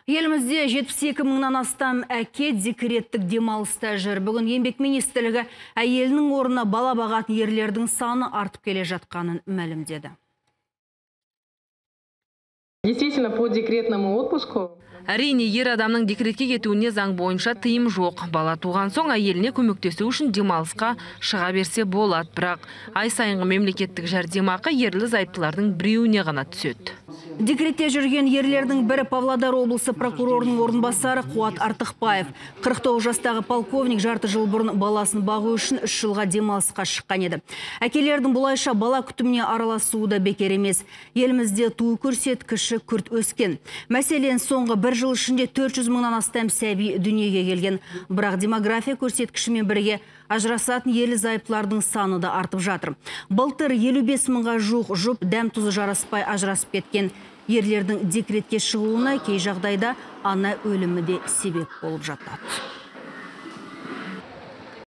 Елімізде 72 мыңнан астам әке декреттік демалыста жүр. Бүгін еңбек министрлігі әйелінің орнына бала бағатын ерлердің саны артып келе жатқанын мәлімдеді. Действительно, по декретному отпуску Әрине, ер адамның декретке кетуіне заң бойынша тыйым жоқ. Бала туған соң әйеліне көмектесу үшін демалысқа шыға берсе болады, бірақ ай сайынғы мемлекеттік жәрдемақы ерлі-зайыптылардың біреуіне ғана түседі. Декретте жүрген ерлердің бірі Павлодар облысы прокурорының орынбасары Қуат Артықбаев. 49 жастағы полковник жарты жыл бұрын баласын бағу үшін 3 жылға демалысқа шыққан еді. Әкелердің бұлайша бала күтіміне араласуы да бекер емес. Елімізде туу көрсеткіші күрт өскен. Мәселен, соңғы бір жыл ішінде 400 мыңнан астам сәби дүниеге келген. Бірақ демография көрсеткішімен бірге ажырасатын ерлі-зайыптылардың саны да артып жатыр. Былтыр 55 мыңға жуық жұп дәм тұзы жараспай ажырасып кеткен. Ерлердің декретке шығуына кей жағдайда ана өлімі де себеп болып жатады.